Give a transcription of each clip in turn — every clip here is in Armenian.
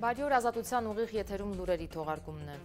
Բարի օր, ազատության ուղիղ եթերում լուրերի թողարկումն է։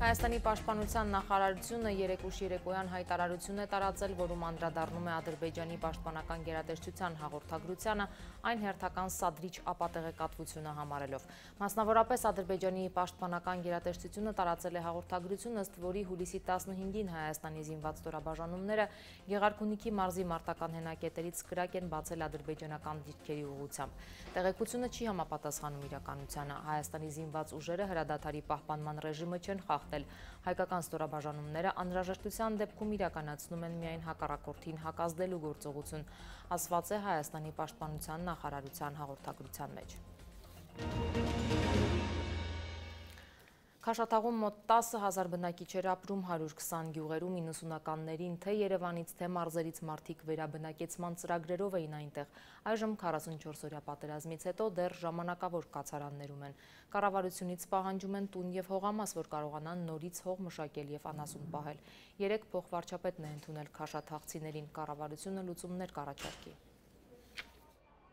Հայաստանի պաշտպանության նախարարությունը երեկ ուշ երեկոյան հայտարարություն է տարածել, որում անդրադառնում է Ադրբեջանի պաշտպանական գերատեսչության հաղորդագրությանը, այն հերթական սադրիչ ապատեղեկատվությունը համարելով։ Մասնավորապես Ադրբեջանի պաշտպանական գերատեսչությունը տարածել է հաղորդագրություն, ըստ որի հուլիսի 15-ին Հայաստանի զինված ստորաբաժանումները Գեղարքունիքի մարզի մարտական հենակետերից կրակ են բացել ադրբեջանական դիրքերի ուղղությամբ։ Տեղեկությունը չի համապատասխանում իրականությանը։ Հայաստանի զինված ուժերը հրադադարի պահպանման ռեժիմը չեն խախտել։ Հայկական ստորաբաժանումները անհրաժեշտության դեպքում իրականացնում են միայն հակառակորդին հակազդելու գործողություն, ասված է Հայաստանի պաշտպանության նախարարության հաղորդագրության մեջ։ Քաշաթաղում մոտ 10,000 բնակիչ էր ապրում 120 գյուղերում 90-ականներին թե Երևանից, թե մարզերից մարդիկ վերաբնակեցման ծրագրերով էին այնտեղ։ Այժմ 44 օրյա պատերազմից հետո դեռ ժամանակավոր կացարաններում են։ Կառավարությունից պահանջում են տուն եւ հողամաս, որ կարողանան նորից հող մշակել եւ անասուն պահել։ Երեկ փոխվարչապետն է ընդունել քաշաթաղցիներին, կառավարությունը լուծումներ կառաջարկի։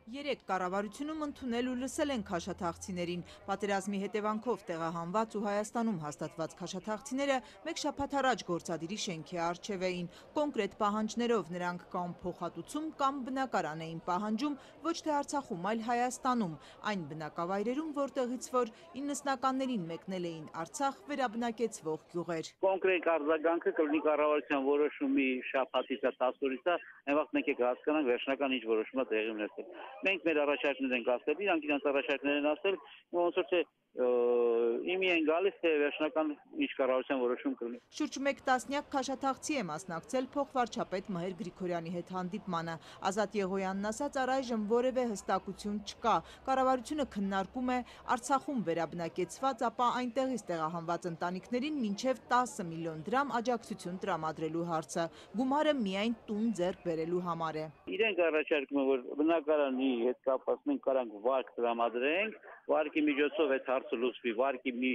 Երեկ կառավարությունում ընդունել ու լսել են քաշաթաղցիներին։ Պատերազմի հետևանքով տեղահանված ու Հայաստանում հաստատված քաշաթաղցիները մեկ շաբաթ առաջ գործադիրի շենքի առջև էին։ Կոնկրետ պահանջներով նրանք կամ փոխհատուցում կամ բնակարան էին պահանջում ոչ թե Արցախում, այլ Հայաստանում, այն բնակավայրերում, որտեղից որ 90-ականներին մեկնել էին Արցախ վերաբնակեցվող գյուղեր։ Կոնկրետ արձագանքը կլինի կառավարության որոշումի շաբաթից 10 օրից, այն վաղ մենք հասկանանք վերջնական ինչ որոշում է տեղի ունեցել։ Մենք մեր առաջարկներ ենք ասել, իրանք իրենց առաջարկներ են ասել, ոնց որ թե իմի են գալիս, թե վերջնական ինչ կառավարության որոշում կլինի։ Շուրջ մեկ տասնյակ քաշաթաղցի է մասնակցել փոխվարչապետ Մհեր Գրիգորյանի հետ հանդիպմանը։ Ազատ Եղոյանն ասաց, առայժմ որևէ հստակություն չկա։ Կառավարությունը քննարկում է Արցախում վերաբնակեցված, ապա այնտեղից տեղահանված ընտանիքներին մինչև 10 միլիոն դրամ աջակցություն տրամադրելու հարցը։ Գումարը միայն տուն ձեռք բերելու համար է։ Իրենք առաջարկում են, որ բնակարանի հետ կապված մենք կարանք վարկ տրամադրենք, վարկի միջոցով այդ հարցը լուծվի, վարկի մի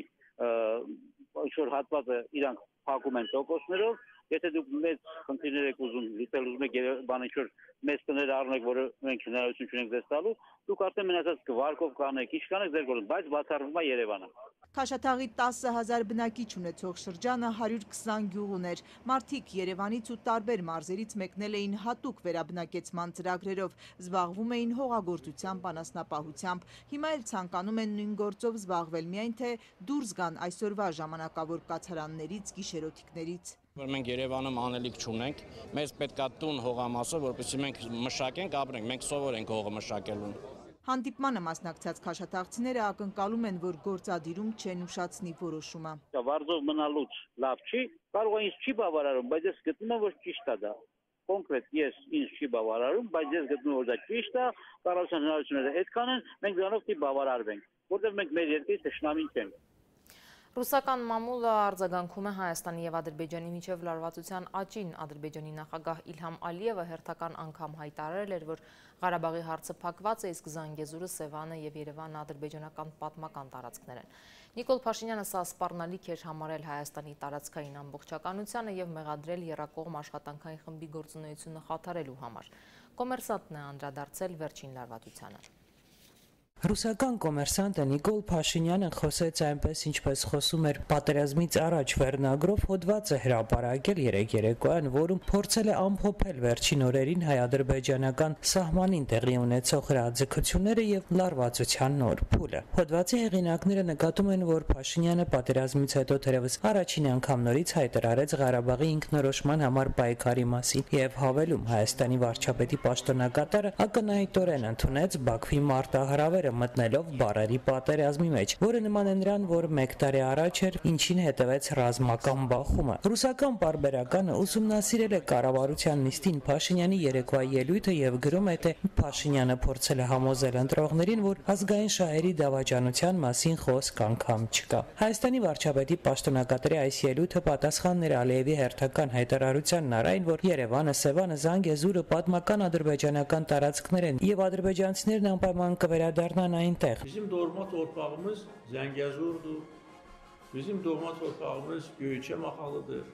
ինչ-որ հատվածը իրանք փակում են տոկոսներով, եթե դուք մեծ խնդիրներ եք ուզում լուծել, ուզում եք բան ինչ-որ մեծ տներ առնեք, որը մենք հնարավորություն չունենք ձեզ տալու, դուք արդեն մնացած վարկով կանեք, ինչ կանեք ձեր գործում, բայց բացառվում է Երևանը։ Քաշաթաղի 10,000 բնակիչ ունեցող շրջանը 120 գյուղ ուներ։ Մարդիկ Երևանից ու տարբեր մարզերից մեկնել էին հատուկ վերաբնակեցման ծրագրերով, զբաղվում էին հողագործությամբ, անասնապահությամբ։ Հիմա էլ ցանկանում են նույն գործով զբաղվել, միայն թե դուրս գան այսօրվա ժամանակավոր կացարաններից, գիշերօթիկներից։ Մենք Երևանում անելիք չունենք, մեզ պետքա տուն հողամասը, որպեսզի մենք մշակենք, ապրենք, մենք սովոր ենք հողը մշակելուն։ Հանդիպմանը մասնակցած քաշաթաղցիները ակնկալում են, որ գործադիրում չեն ուշացնի որոշումը։ Վարձով մնալուց լավ չի, կարող է ինձ չի բավարարում, բայց ես գտնում եմ, որ ճիշտ է դա։ Կոնկրետ ես ինձ չի բավարարում, բայց ես գտնում եմ, որ դա ճիշտ է, կառավարության հնարավորությունները այդքան են, մենք դրանով չի բավարարվենք, որտեղ մենք մեր երկրի թշնամին չենք։ Ռուսական մամուլը արձագանքում է Հայաստանի եւ Ադրբեջանի միջև լարվածության աճին։ Ադրբեջանի նախագահ Իլհամ Ալիևը հերթական անգամ հայտարարել էր, որ Ղարաբաղի հարցը փակված է, իսկ Զանգեզուրը, Սևանը եւ Երևանը ադրբեջանական պատմական տարածքներ են։ Նիկոլ Փաշինյանը սա սպառնալիք էր համարել Հայաստանի տարածքային ամբողջականությանը եւ մեղադրել եռակողմ աշխատանքային խմբի գործունեությունը խաթարելու համար։ Կոմերսանտն է անդրադարձել վերջին լարվածությանը։ Ռուսական կոմերսանտը Նիկոլ Փաշինյանը խոսեց այնպես, ինչպես խոսում էր պատերազմից առաջ վերնագրով հոդված է հրապարակել երեկ երեկոյան, որում փորձել է ամփոփել վերջին օրերին հայ-ադրբեջանական սահմանին տեղի ունեցող հրաձգությունները եւ լարվածության նոր փուլը։ Հոդվածի հեղինակները նկատում են, որ Փաշինյանը պատերազմից հետո թերևս առաջին անգամ նորից հայտարարեց Ղարաբաղի ինքնորոշման համար պայքարի մասին եւ հավելում Հայաստանի վարչապետի պաշտոնակատարը ակնհայտորեն ընդունեց Բաքվի մարտահրավերը մտնելով բարերի պատերազմի մեջ, որը նման է նրան, որ մեկ տարի առաջ էր, ինչին հետևեց ռազմական բախումը։ Ռուսական պարբերականը ուսումնասիրել է կառավարության նիստին Փաշինյանի երեկվա ելույթը եւ գրում է, թե Փաշինյանը փորձել է համոզել ընտրողներին, որ ազգային շահերի դավաճանության մասին խոսք անգամ չկա։ Հայաստանի վարչապետի պաշտոնակատարի այս ելույթը պատասխանն էր Ալիևի հերթական հայտարարությանն այն, որ Երևանը, Սևանը, Զանգեզուրը պատմական ադրբեջանական տարածքներ են եւ ադրբեջանցիներն անպայման կվերադառնան այնտեղ։ Bizim doğma torpağımız Zəngəzurdur. Bizim doğma torpağımız Göyçə maxalıdır,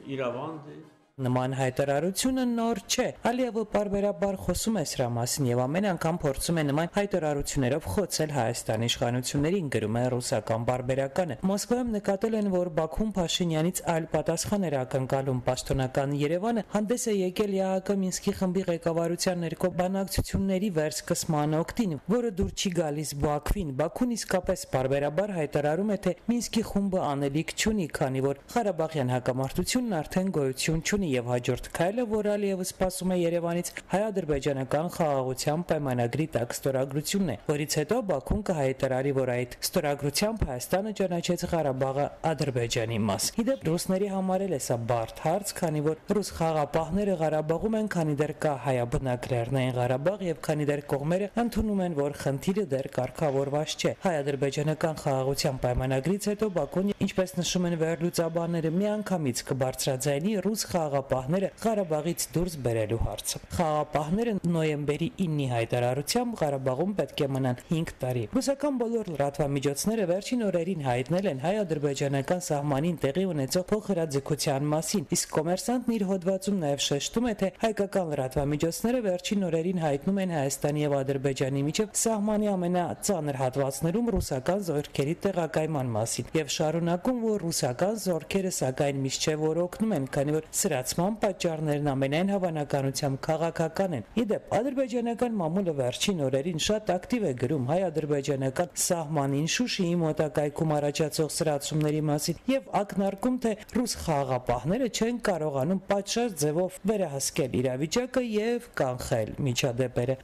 İrəvandır. Նման հայտարարությունը նոր չէ։ Ալիևը պարբերաբար խոսում է սրա մասին եւ ամեն անգամ փորձում է նման հայտարարություններով խոցել Հայաստանի իշխանություններին, գրում է ռուսական պարբերականը։ Մոսկվայում նկատել են, որ Բաքուն Փաշինյանից այլ պատասխան էր ակնկալում։ Պաշտոնական Երևանը հանդես է եկել ԵԱՀԿ Մինսկի խմբի ղեկավարության ներքո բանակցությունների վերսկսման օգտին, որը դուր չի գալիս Բաքվին։ Բաքուն իսկապես պարբերաբար հայտարարում է, թե Մինսկի խումբը անելիք չունի, քանի որ Ղարաբաղյան հակամարտությունն արդեն գոյություն չունի եւ հաջորդ քայլը, որ Ալիևը սպասում է Երևանից հայ-ադրբեջանական խաղաղության պայմանագրի տակ ստորագրությունն է, որից հետո Բաքուն կհայտարարի, որ այդ ստորագրությամբ Հայաստանը ճանաչեց Ղարաբաղը Ադրբեջանի մաս։ Իդեպ ռուսների համար էլ է սա բարդ հարց, քանի որ ռուս խաղապահները Ղարաբաղում են, քանի դեռ կա հայաբնակ Լեռնային Ղարաբաղ եւ քանի դեռ կողմերը ընդունում են, որ խնդիրը դեռ կարգավորված չէ։ Հայ-ադրբեջանական խաղաղության պայմանագրից հետո Բաքուն, ինչպես նշում են վերլուծաբանները, միանգամից կբարձրաձայնի ռուս խաղապահները Ղարաբաղից դուրս բերելու հարցը։ Խաղապահները նոյեմբերի 9-ի հայտարարությամբ Ղարաբաղում պետք է մնան 5 տարի։ Ռուսական բոլոր լրատվամիջոցները վերջին օրերին հայտնել են հայ-ադրբեջանական սահմանին տեղի ունեցող փոխհրաձգության մասին, իսկ Կոմերսանտն իր հոդվածում նաև շեշտում է, թե հայկական լրատվամիջոցները վերջին օրերին հայտնում են Հայաստանի եւ Ադրբեջանի միջև սահմանի ամենածանր հատվածներում ռուսական զորքերի տեղակայման մասին եւ շարունակում, որ ռուսական զորքերը սակայն միշտ չէ որ օգնում են, քանի որ սրացման պատճառներն ամենայն հավանականությամբ քաղաքական են։ Իդեպ ադրբեջանական մամուլը վերջին օրերին շատ ակտիվ է գրում հայ-ադրբեջանական սահմանին Շուշիի մոտակայքում առաջացող սրացումների մասին եւ ակնարկում, թե ռուս խաղաղապահները չեն կարողանում պատշաճ ձևով վերահսկել իրավիճակը եւ կանխել միջադեպերը։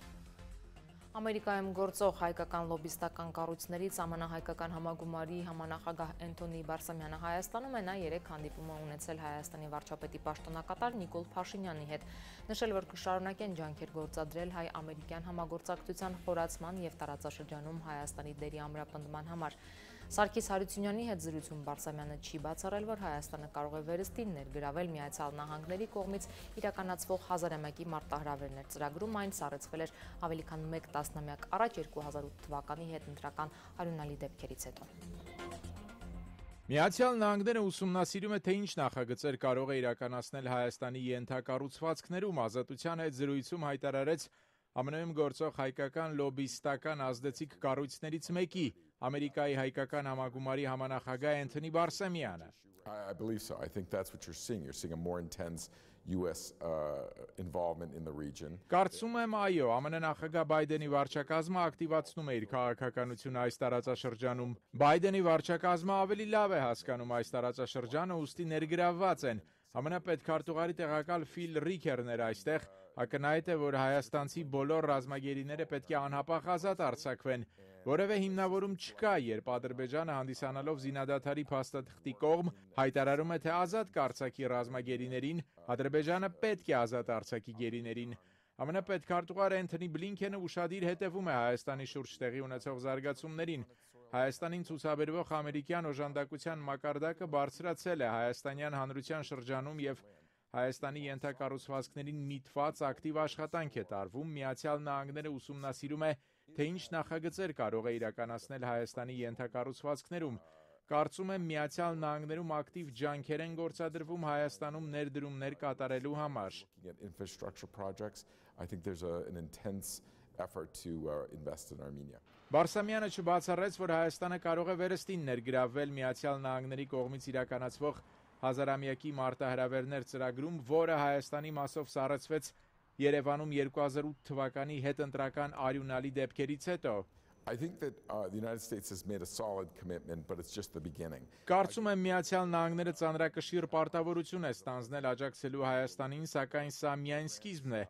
Ամերիկայում գործող հայկական լոբիստական կառույցներից ԱՄՆ-հայկական համագումարի համանախագահ Էնթոնի Բարսամյանը Հայաստանում է, նա 3 հանդիպում է ունեցել Հայաստանի վարչապետի պաշտոնակատար Նիկոլ Փաշինյանի հետ, նշել, որ կշարունակեն ջանքեր գործադրել հայ-ամերիկյան համագործակցության խորացման եւ տարածաշրջանում Հայաստանի դերի ամրապնդման համար։ Սարգիս Հարությունյանի հետ զրույցում Բարսամյանը չի բացառել, որ Հայաստանը կարող է վերստին ներգրավել Միացյալ Նահանգների կողմից իրականացվող 1000-ամյակի մարտահրավերներ ծրագրում, այն սառեցվել էր ավելի քան 1 տասնամյակ առաջ 2008 թվականի հետընտրական արյունալի դեպքերից հետո։ Միացյալ Նահանգները ուսումնասիրում է, թե ինչ նախագծեր կարող է իրականացնել Հայաստանի ենթակառուցվածքներում, Ազատության հետ զրույցում հայտարարեց ԱՄՆ-ում գործող հայկական լոբիստական ազդեցիկ կառույցներից մեկի Ամերիկայի հայկական համագումարի համանախագահ Էնթոնի Բարսամյանը։ I believe so. I think that's what you're seeing. You're seeing a more intense US involvement in the region. Կարծում եմ, այո, ԱՄՆ նախագահ Բայդենի վարչակազմը ակտիվացնում է իր քաղաքականությունը այս տարածաշրջանում։ Բայդենի վարչակազմը ավելի լավ է հասկանում այս տարածաշրջանը, ուստի ներգրավված են։ ԱՄՆ պետքարտուղարի տեղակալ Ֆիլ Ռիքերն էր այստեղ, ակնհայտ է, որ հայաստանցի բոլոր ռազմագերիները պետք է անհապաղ ազատ արձակվեն։ Որևէ հիմնավորում չկա, երբ Ադրբեջանը հանդիսանալով զինադադարի փաստաթղթի կողմ հայտարարում է, թե ազատ կարձակի ռազմագերիներին, Ադրբեջանը պետք է ազատ արձակի գերիներին։ ԱՄՆ պետքարտուղար Էնթոնի Բլինքենը ուշադիր հետևում է Հայաստանի շուրջ տեղի ունեցող զարգացումներին։ Հայաստանին ցուցաբերվող ամերիկյան օժանդակության մակարդակը բարձրացել է հայաստանյան հանրության շրջանում եւ Հայաստանի ենթակառուցվածքներին միտված ակտիվ աշխատանք է տարվում, Միացյալ Նահանգները ուսումնասիրում է, թե ինչ նախագծեր կարող է իրականացնել Հայաստանի ենթակառուցվածքներում։ Կարծում եմ Միացյալ Նահանգներում ակտիվ ջանքեր են գործադրվում Հայաստանում ներդրումներ կատարելու համար։ Բարսամյանը չբացառեց, որ Հայաստանը կարող է վերստին ներգրավել Միացյալ Նահանգների կողմից իրականացվող 1000-ամյակի մարտահրավերներ ծրագրում, որը Հայաստանի մասով սառեցվեց Երևանում 2008 թվականի հետընտրական արյունալի դեպքերից հետո։ I think that the United States has made a solid commitment, but it's just the beginning. Կարծում եմ Միացյալ Նահանգները ծանրակշիռ պարտավորություն է ստանձնել աջակցելու Հայաստանին, սակայն սա միայն սկիզբն է։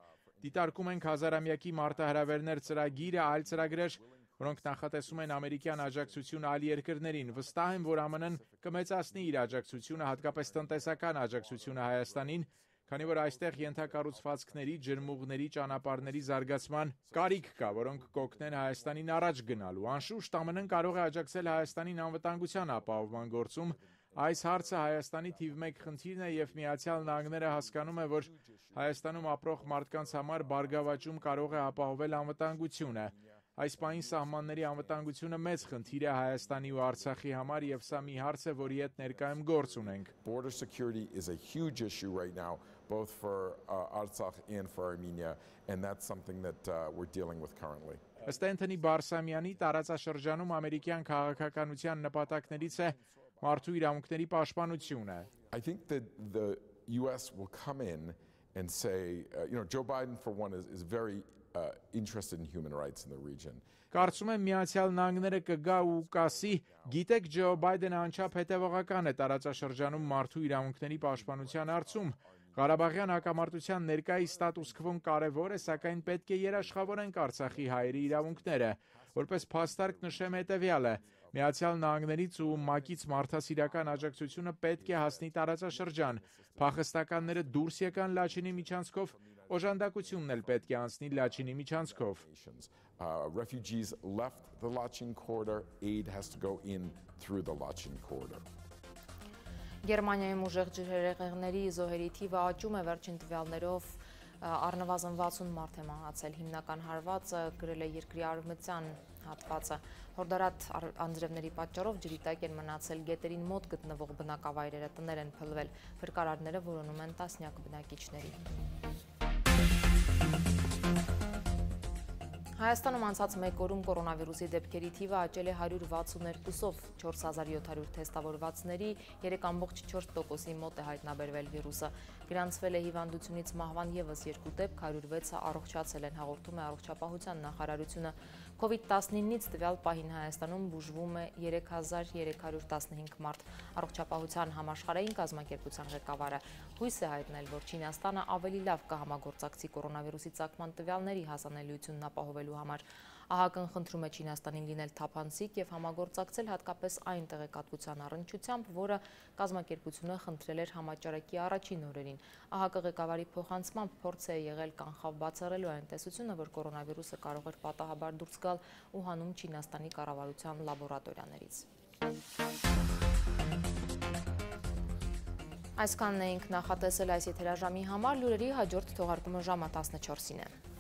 Դիտարկում ենք 1000-ամյակի մարտահրավերներ ծրագիրը, այլ ծրագրեր, որոնք նախատեսում են ամերիկյան աջակցություն այլ երկրներին։ Վստահ եմ, որ ԱՄՆ-ն կմեծացնի իր աջակցությունը, հատկապես տնտեսական աջակցությունը Հայաստանին, քանի որ այստեղ ենթակառուցվածքների, ջրմուղների, ճանապարհների զարգացման կարիք կա, որոնք կօգնեն Հայաստանին առաջ գնալու։ Անշուշտ ԱՄՆ-ն կարող է աջակցել Հայաստանին անվտանգության ապահովման գործում։ Այս հարցը Հայաստանի թիվ 1 խնդիրն է եւ Միացյալ Նահանգները հասկանում է, որ Հայաստանում ապրող մարդկանց համար բարգավաճում կարող է ապահովել անվտանգությունը։ Այս պահին սահմանների անվտանգությունը մեծ խնդիր է Հայաստանի ու Արցախի համար եւ սա մի հարց է, որի հետ ներկայում գործ ունենք։ Border security is a huge issue right now, both for Artsakh and for Armenia, and that's something that we're dealing with currently. Ըստ Անթոնի Բարսամյանի տարածաշրջանում ամերիկյան քաղաքականության նպատակներից է մարդու իրավունքների պաշտպանությունը։ I think that the US will come in and say, Joe Biden, for one, is very interested in human rights in the region. Կարծում եմ Միացյալ Նահանգները կգա ու կասի, գիտեք, Ջո Բայդենը անչափ հետևողական է տարածաշրջանում մարդու իրավունքների պաշտպանության հարցում։ Ղարաբաղյան հակամարտության ներկայիս ստատուս քվոն կարևոր է, սակայն պետք է երաշխավորենք Արցախի հայերի իրավունքները։ Որպես փաստարկ նշեմ հետևյալը. Միացյալ Նահանգներից ու ՄԱԿ-ից մարդասիրական աջակցությունը պետք է հասնի տարածաշրջան։ Փախստականները դուրս եկան Լաչինի միջանցքով, օժանդակությունն էլ պետք է անցնի Լաչինի միջանցքով։ Refugees left the Lachin corridor, aid has to go in through the Lachin corridor. Գերմանիայում ուժեղ ջրհեղեղների զոհերի թիվը աճում է վերջին տվյալներով առնվազն 60 մարդ է մահացել, հիմնական հարվածը գրել է երկրի արևմտյան հատվածը։ Հորդորատ անձրևների պատճառով ջրի տակ են մնացել գետերին մոտ գտնվող բնակավայրերը, տներ են փլվել, փրկարարները որոնում են տասնյակ բնակիչների։ Հայաստանում անցած մեկ օրում կորոնավիրուսի դեպքերի թիվը աճել է 162-ով, 4700 թեստավորվածների 3.4%-ի մոտ է հայտնաբերվել վիրուսը։ Գրանցվել է հիվանդությունից մահվան ևս 2 դեպք, 106-ը առողջացել են, հաղորդում է Առողջապահության նախարարությունը։ COVID-19-ից տվյալ պահին Հայաստանում բուժվում է 3315 մարդ։ Առողջապահության համաշխարհային կազմակերպության ղեկավարը հույս է հայտնել, որ Չինաստանը ավելի լավ կհամագործակցի կորոնավիրուսի ծագման տվյալների հասանելիությունն ապահովելու համար։ ԱՀԿ-ն խնդրում է Չինաստանին լինել թափանցիկ եւ համագործակցել հատկապես այն տեղեկատվության առնչությամբ, որը կազմակերպությունը խնդրել էր համաճարակի առաջին օրերին։ ԱՀԿ ղեկավարի փոխանցմամբ փորձ է եղել կանխավ բացառելու այն տեսությունը, որ կորոնավիրուսը կարող էր պատահաբար դուրս գալ Ուհանում Չինաստանի կառավարության լաբորատորիաներից։ Այսքանն էինք նախատեսել այս եթերաժամի համար, լուրերի հաջորդ թողարկումը ժամը 14-ին է։